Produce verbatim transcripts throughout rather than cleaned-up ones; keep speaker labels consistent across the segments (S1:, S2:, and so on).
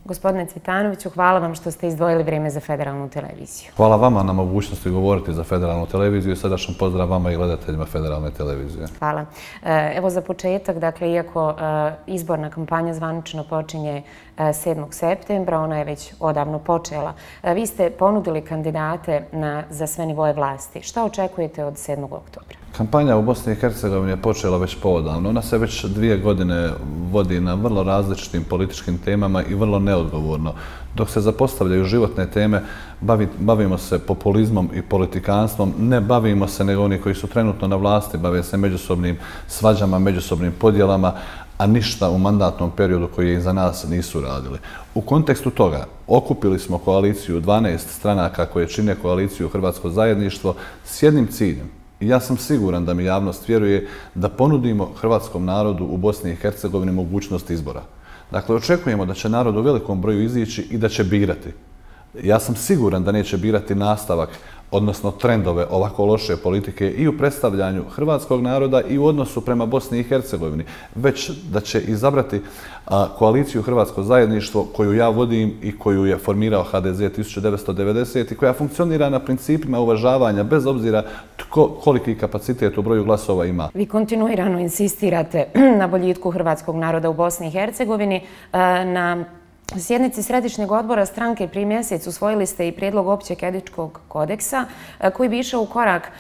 S1: Gospodine Cvitanoviću, hvala vam što ste izdvojili vrijeme za Federalnu televiziju.
S2: Hvala vama na mogućnosti govoriti za Federalnu televiziju i srdačan pozdrav vama i gledateljima Federalne televizije.
S1: Hvala. Evo za početak, dakle, iako izborna kampanja zvanično počinje sedmog septembra, ona je već odavno počela. Vi ste ponudili kandidate za sve nivoje vlasti. Šta očekujete od sedmog oktobra?
S2: Kampanja u Bosni i Hercegovini je počela već poodavno. Ona se već dvije godine vodi na vrlo različitim političkim temama i vrlo neodgovorno. Dok se zapostavljaju životne teme, bavimo se populizmom i politikanstvom, ne bavimo se nego oni koji su trenutno na vlasti, bave se međusobnim svađama, međusobnim podjelama, a ništa u mandatnom periodu koji je iza nas nisu radili. U kontekstu toga okupili smo koaliciju dvanaest stranaka koje čine koaliciju Hrvatsko zajedništvo s jednim ciljem. I ja sam siguran da mi javnost vjeruje da ponudimo hrvatskom narodu u Bosni i Hercegovini mogućnost izbora. Dakle, očekujemo da će narod u velikom broju izići i da će birati. Ja sam siguran da neće birati nastavak, odnosno trendove ovako loše politike i u predstavljanju hrvatskog naroda i u odnosu prema Bosni i Hercegovini, već da će izabrati koaliciju Hrvatsko zajedništvo koju ja vodim i koju je formirao ha de ze tisuću devetsto devedesete i koja funkcionira na principima uvažavanja bez obzira koliki kapacitet u broju glasova ima.
S1: Vi kontinuirano insistirate na boljitku hrvatskog naroda u Bosni i Hercegovini. Na sjednici Središnjeg odbora stranke prije mjesec usvojili ste i prijedlog općeg etičkog kodeksa koji bi išao u korak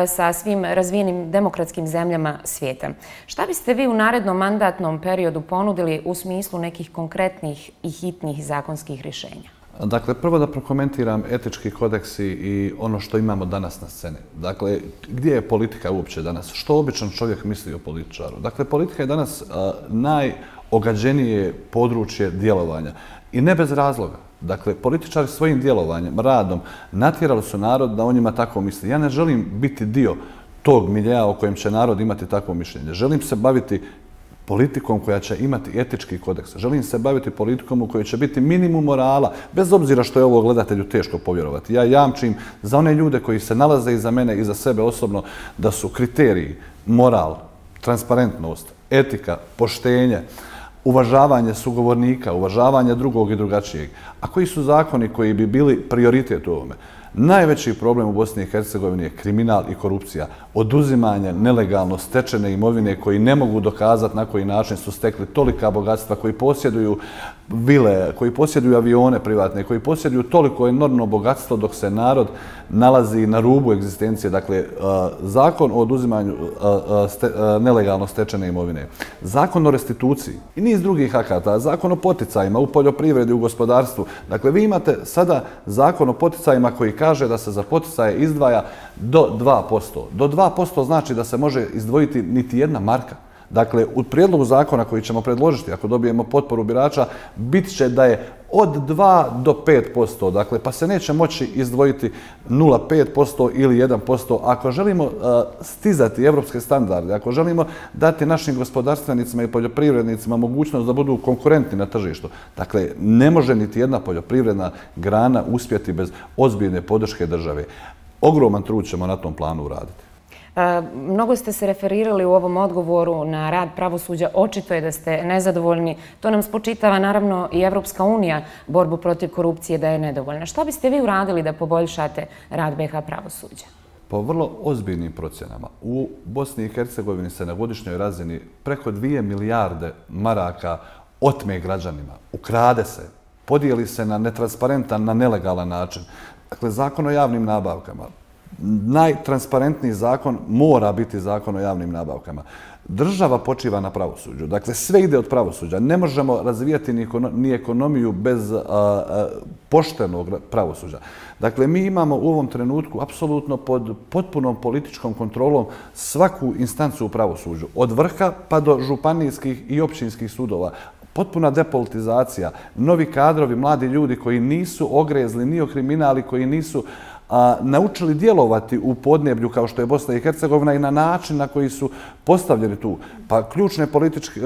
S1: sa svim razvijenim demokratskim zemljama svijeta. Šta biste vi u narednom mandatnom periodu ponudili u smislu nekih konkretnih i hitnih zakonskih rješenja?
S2: Dakle, prvo da prokomentiram etički kodeksi i ono što imamo danas na sceni. Dakle, gdje je politika uopće danas? Što običan čovjek misli o političaru? Dakle, politika je danas najogađenije područje djelovanja i ne bez razloga. Dakle, političari svojim djelovanjem, radom natjerali su narod da o njima tako misli. Ja ne želim biti dio tog miljea o kojem će narod imati takvo mišljenje. Želim se baviti politikom koja će imati etički kodeks. Želim se baviti politikom u kojoj će biti minimum morala, bez obzira što je ovo gledatelju teško povjerovati. Ja jamčim za one ljude koji se nalaze iza mene i za sebe osobno da su kriteriji moral, transparentnost, etika, poštenje, uvažavanje sugovornika, uvažavanje drugog i drugačijeg. A koji su zakoni koji bi bili prioritet u ovome? Najveći problem u Bosni i Hercegovini je kriminal i korupcija, oduzimanje nelegalno stečene imovine koji ne mogu dokazati na koji način su stekli tolika bogatstva, koji posjeduju vile, koji posjeduju avione privatne, koji posjeduju toliko enormno bogatstvo dok se narod nalazi na rubu egzistencije. Dakle, zakon o oduzimanju nelegalno stečene imovine, zakon o restituciji i niz drugih akata, zakon o poticajima u poljoprivredi, u gospodarstvu. Dakle, vi imate sada zakon o poticajima koji kaže da se za poticaje izdvaja do dva posto. Do dva posto znači da se može izdvojiti niti jedna marka. Dakle, u prijedlogu zakona koji ćemo predložiti, ako dobijemo potporu birača, bit će da je od dva do pet posto. Dakle, pa se neće moći izdvojiti nula zarez pet posto ili jedan posto. Ako želimo stizati evropske standarde, ako želimo dati našim gospodarstvenicima i poljoprivrednicima mogućnost da budu konkurentni na tržištu, dakle, ne može niti jedna poljoprivredna grana uspjeti bez ozbiljne podrške države. Ogroman trud ćemo na tom planu uraditi.
S1: Mnogo ste se referirali u ovom odgovoru na rad pravosuđa. Očito je da ste nezadovoljni. To nam spočitava naravno i Evropska unija borbu protiv korupcije da je nedovoljna. Što biste vi uradili da poboljšate rad be ha pravosuđa?
S2: Po vrlo ozbiljnim procjenama u Bosni i Hercegovini se na godišnjoj razini preko dvije milijarde maraka otme građanima, ukrade se, podijeli se na netransparentan, na nelegalan način. Dakle, zakon o javnim nabavkama. Najtransparentniji zakon mora biti zakon o javnim nabavkama. Država počiva na pravosuđu. Dakle, sve ide od pravosuđa. Ne možemo razvijati ni ekonomiju bez poštenog pravosuđa. Dakle, mi imamo u ovom trenutku apsolutno pod potpunom političkom kontrolom svaku instancu u pravosuđu. Od vrha pa do županijskih i općinskih sudova. Potpuna depolitizacija, novi kadrovi, mladi ljudi koji nisu ogrezli ni o kriminali, koji nisu naučili djelovati u podneblju kao što je Bosna i Hercegovina i na način na koji su postavljeni tu. Pa ključne,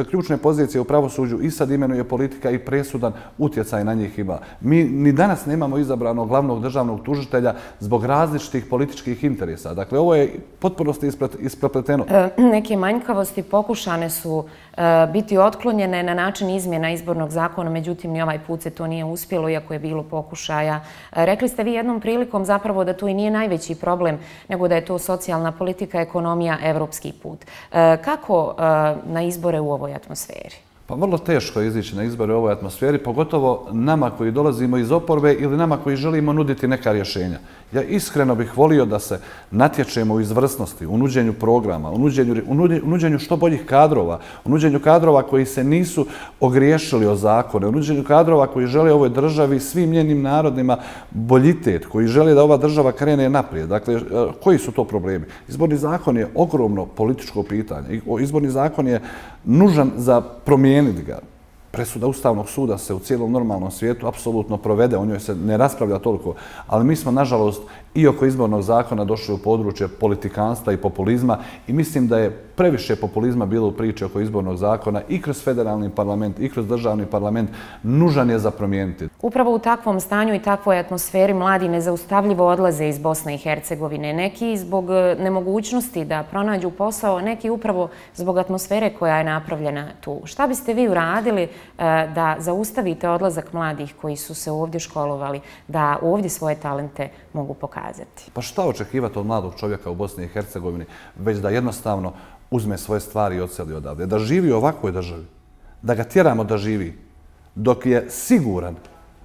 S2: ključne pozicije u pravosuđu i sad imenuje politika i presudan utjecaj na njih ima. Mi ni danas nemamo izabranog glavnog državnog tužitelja zbog različitih političkih interesa. Dakle, ovo je potpunosti isprepleteno.
S1: E, neke manjkavosti pokušane su e, biti otklonjene na način izmjena izbornog zakona, međutim ni ovaj put se to nije uspjelo, iako je bilo pokušaja. E, rekli ste vi jednom prilikom zapravo da to i nije najveći problem, nego da je to socijalna politika, ekonomija, evropski put. E, kako e, na izbore u ovoj atmosferi?
S2: Pa vrlo teško je izići na izbore u ovoj atmosferi, pogotovo nama koji dolazimo iz oporbe ili nama koji želimo nuditi neka rješenja. Ja iskreno bih volio da se natječemo u izvrsnosti, u nuđenju programa, u nuđenju, u nuđenju što boljih kadrova, u nuđenju kadrova koji se nisu ogriješili o zakone, u nuđenju kadrova koji žele ovoj državi, svim njenim narodima boljitet, koji žele da ova država krene naprijed. Dakle, koji su to problemi? Izborni zakon je ogromno političko pitanje. Izborni zakon je nužan za promijeniti ga. Presuda Ustavnog suda se u cijelom normalnom svijetu apsolutno provede, o njoj se ne raspravlja toliko, ali mi smo, nažalost, i oko izbornog zakona došli u područje politikanstva i populizma i mislim da je previše populizma bilo u priči oko izbornog zakona i kroz federalni parlament i kroz državni parlament nužan je za promijeniti.
S1: Upravo u takvom stanju i takvoj atmosferi mladi nezaustavljivo odlaze iz Bosne i Hercegovine. Neki zbog nemogućnosti da pronađu posao, neki upravo zbog atmosfere koja je napravljena tu. Šta biste vi uradili da zaustavite odlazak mladih koji su se ovdje školovali, da ovdje svoje talente mogu pokazati?
S2: Pa šta očekivati od mladog čovjeka u Bosni i Hercegovini, već da jednostavno uzme svoje stvari i odseli odavde, da živi u ovakvoj državi, da ga tjeramo da živi, dok je siguran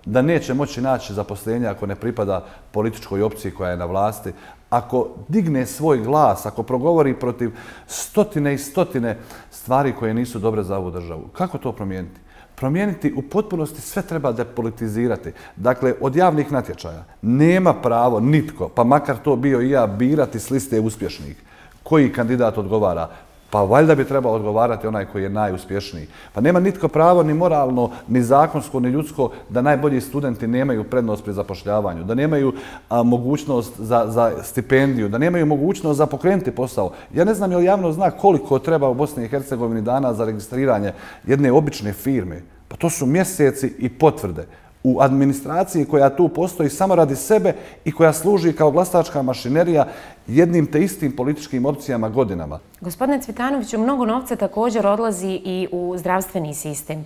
S2: da neće moći naći zaposlenje ako ne pripada političkoj opciji koja je na vlasti, ako digne svoj glas, ako progovori protiv stotine i stotine stvari koje nisu dobre za ovu državu. Kako to promijeniti? Promijeniti u potpunosti sve treba depolitizirati. Dakle, od javnih natječaja nema pravo nitko, pa makar to bio i ja, birati s liste uspješnih. Koji kandidat odgovara? Pa valjda bi trebao odgovarati onaj koji je najuspješniji. Pa nema nitko pravo ni moralno, ni zakonsko, ni ljudsko da najbolji studenti nemaju prednost pri zapošljavanju, da nemaju a, mogućnost za, za stipendiju, da nemaju mogućnost za pokrenuti posao. Ja ne znam je li javno zna koliko treba u Bosni i Hercegovini dana za registriranje jedne obične firme. Pa to su mjeseci i potvrde. U administraciji koja tu postoji samo radi sebe i koja služi kao glasačka mašinerija jednim te istim političkim opcijama godinama.
S1: Gospodine Cvitanoviću, mnogo novca također odlazi i u zdravstveni sistem.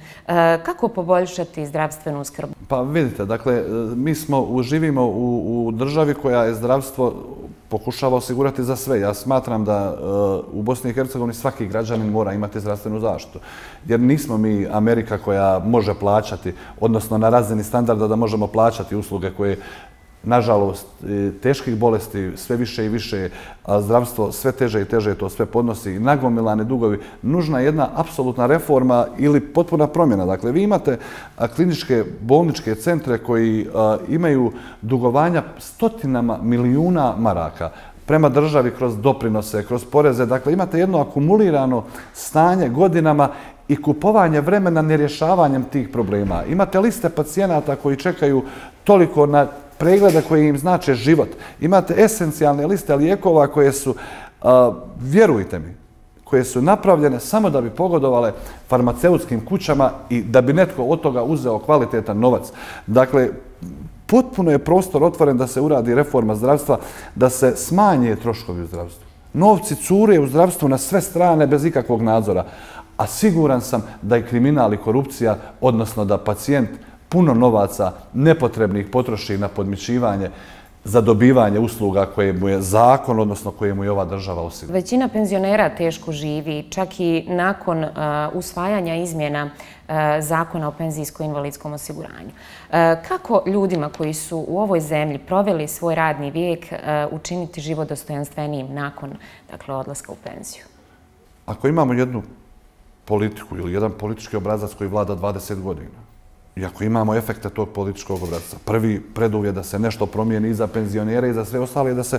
S1: Kako poboljšati zdravstvenu skrb?
S2: Pa vidite, dakle, mi smo, živimo u, u državi koja je zdravstvo pokušava osigurati za sve. Ja smatram da uh, u Bosni i Hercegovini svaki građanin mora imati zdravstvenu zaštitu. Jer nismo mi Amerika koja može plaćati, odnosno na razini standarda da možemo plaćati usluge koje, nažalost, teških bolesti sve više i više, a zdravstvo sve teže i teže to sve podnosi, nagomilani dugovi. Nužna je jedna apsolutna reforma ili potpuna promjena. Dakle, vi imate kliničke bolničke centre koji a, imaju dugovanja stotinama milijuna maraka prema državi kroz doprinose, kroz poreze. Dakle, imate jedno akumulirano stanje godinama i kupovanje vremena nerješavanjem tih problema. Imate liste pacijenata koji čekaju toliko na preglede koje im znače život. Imate esencijalne liste lijekova koje su, a, vjerujte mi, koje su napravljene samo da bi pogodovale farmaceutskim kućama i da bi netko od toga uzeo kvalitetan novac. Dakle, potpuno je prostor otvoren da se uradi reforma zdravstva, da se smanje troškovi u zdravstvu. Novci cure u zdravstvu na sve strane bez ikakvog nadzora, a siguran sam da je kriminal i korupcija, odnosno da pacijent puno novaca nepotrebnih potroši na podmićivanje za dobivanje usluga koje mu je zakon, odnosno koje mu je ova država osigurala.
S1: Većina penzionera teško živi, čak i nakon uh, usvajanja izmjena uh, zakona o penzijsko-invalidskom osiguranju. Uh, kako ljudima koji su u ovoj zemlji proveli svoj radni vijek uh, učiniti život dostojanstvenijim nakon, dakle, odlaska u penziju?
S2: Ako imamo jednu politiku ili jedan politički obrazac koji vlada dvadeset godina, i ako imamo efekte tog političkog obrazca, prvi preduvjet da se nešto promijeni i za penzionere i za sve ostale je da se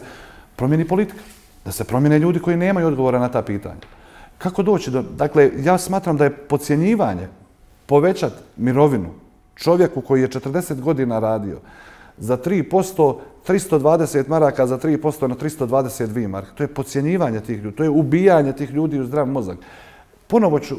S2: promijeni politika, da se promijene ljudi koji nemaju odgovora na ta pitanja. Kako doći do... Dakle, ja smatram da je podcjenjivanje povećati mirovinu čovjeku koji je četrdeset godina radio za tri posto, tristo dvadeset maraka za tri posto na tristo dvadeset dvije marke. To je podcjenjivanje tih ljudi, to je ubijanje tih ljudi u zdrav mozak. Ponovo ću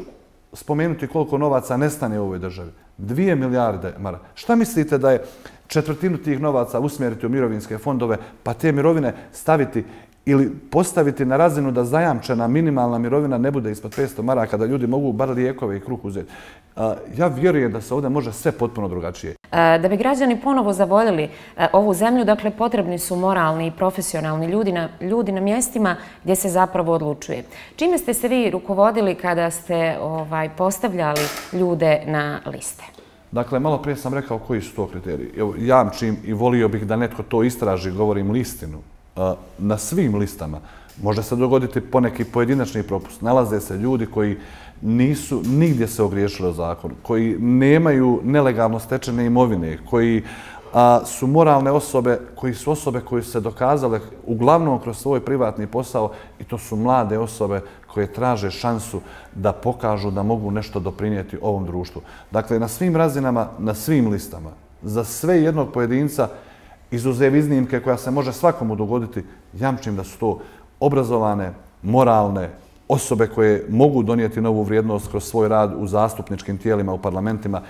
S2: spomenuti koliko novaca nestane u ovoj državi. Dvije milijarde maraka. Šta mislite da je četvrtinu tih novaca usmjeriti u mirovinske fondove, pa te mirovine staviti ili postaviti na razinu da zajamčena minimalna mirovina ne bude ispod petsto maraka, da ljudi mogu bar lijekove i kruh uzeti. Ja vjerujem da se ovdje može sve potpuno drugačije.
S1: Da bi građani ponovo zavoljeli ovu zemlju, dakle, potrebni su moralni i profesionalni ljudi na, ljudi na mjestima gdje se zapravo odlučuje. Čime ste se vi rukovodili kada ste ovaj, postavljali ljude na liste?
S2: Dakle, malo prije sam rekao koji su to kriteriji. Evo, jamčim i volio bih da netko to istraži, govorim listinu. Na svim listama može se dogoditi poneki pojedinačni propust. Nalaze se ljudi koji nisu nigdje se ogriješili o zakonu, koji nemaju nelegalno stečene imovine, koji a, su moralne osobe, koji su osobe koje su se dokazale uglavnom kroz svoj privatni posao i to su mlade osobe koje traže šansu da pokažu da mogu nešto doprinijeti ovom društvu. Dakle, na svim razinama, na svim listama, za sve jednog pojedinca, izuzev iznimke koja se može svakomu dogoditi, jamčim da su to obrazovane, moralne osobe koje mogu donijeti novu vrijednost kroz svoj rad u zastupničkim tijelima, u parlamentima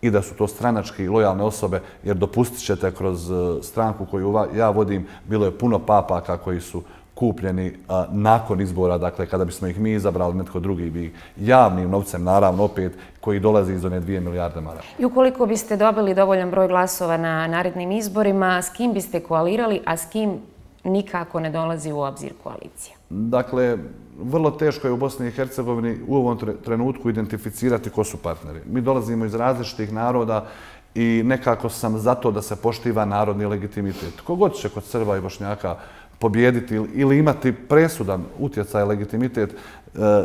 S2: i da su to stranački lojalne osobe, jer dopustit ćete kroz stranku koju ja vodim, bilo je puno papaka koji su kupljeni a, nakon izbora, dakle kada bismo ih mi izabrali, netko drugi bi javnim novcem, naravno opet, koji dolazi iz one dvije milijarde maraka.
S1: I ukoliko biste dobili dovoljan broj glasova na narednim izborima, s kim biste koalirali, a s kim nikako ne dolazi u obzir koalicija?
S2: Dakle, vrlo teško je u Bosni i Hercegovini u ovom trenutku identificirati ko su partneri. Mi dolazimo iz različitih naroda i nekako sam za to da se poštiva narodni legitimitet. Kogod će kod Srba i Bošnjaka pobijediti ili imati presudan utjecaj, legitimitet,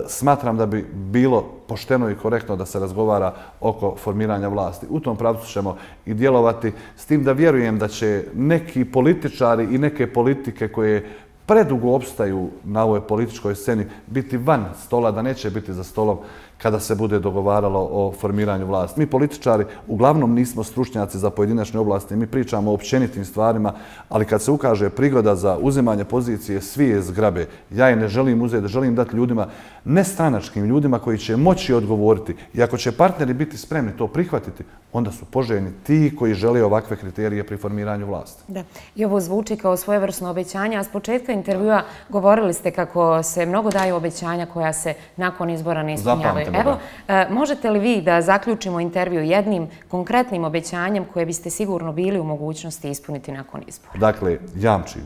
S2: smatram da bi bilo pošteno i korektno da se razgovara oko formiranja vlasti. U tom pravcu ćemo i djelovati, s tim da vjerujem da će neki političari i neke politike koje predugo opstaju na ovoj političkoj sceni biti van stola, da neće biti za stolom kada se bude dogovaralo o formiranju vlasti. Mi političari uglavnom nismo stručnjaci za pojedinačne oblasti, mi pričamo o općenitim stvarima, ali kad se ukaže prigoda za uzimanje pozicije, svi je zgrabe. Ja je ne želim uzeti, želim dati ljudima, nestranačkim ljudima koji će moći odgovoriti. I ako će partneri biti spremni to prihvatiti, onda su poželjni ti koji žele ovakve kriterije pri formiranju vlasti.
S1: Da. I ovo zvuči kao svojevrsno obećanje, a s početka intervjua govorili ste kako se mnogo daju obećanja koja se nakon izbora ne ispunjavaju. Evo, možete li vi da zaključimo intervju jednim konkretnim obećanjem koje biste sigurno bili u mogućnosti ispuniti nakon izbora?
S2: Dakle, jamčim,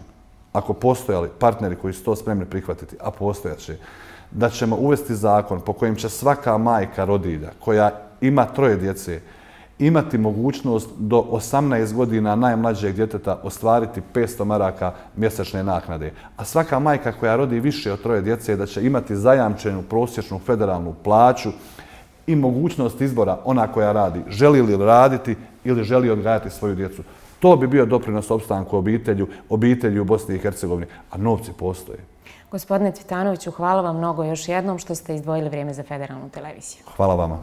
S2: ako postojali partneri koji su to spremni prihvatiti, a postojaće, da ćemo uvesti zakon po kojem će svaka majka rodilja koja ima troje djece imati mogućnost do osamnaest godina najmlađeg djeteta ostvariti petsto maraka mjesečne naknade. A svaka majka koja rodi više od troje djece da će imati zajamčenu prosječnu federalnu plaću i mogućnost izbora ona koja radi. Želi li raditi ili želi odgajati svoju djecu. To bi bio doprinos opstanku obitelju, obitelji u Bosni i Hercegovini, a novci postoje.
S1: Gospodine Cvitanoviću, hvala vam mnogo još jednom što ste izdvojili vrijeme za Federalnu televiziju.
S2: Hvala vama.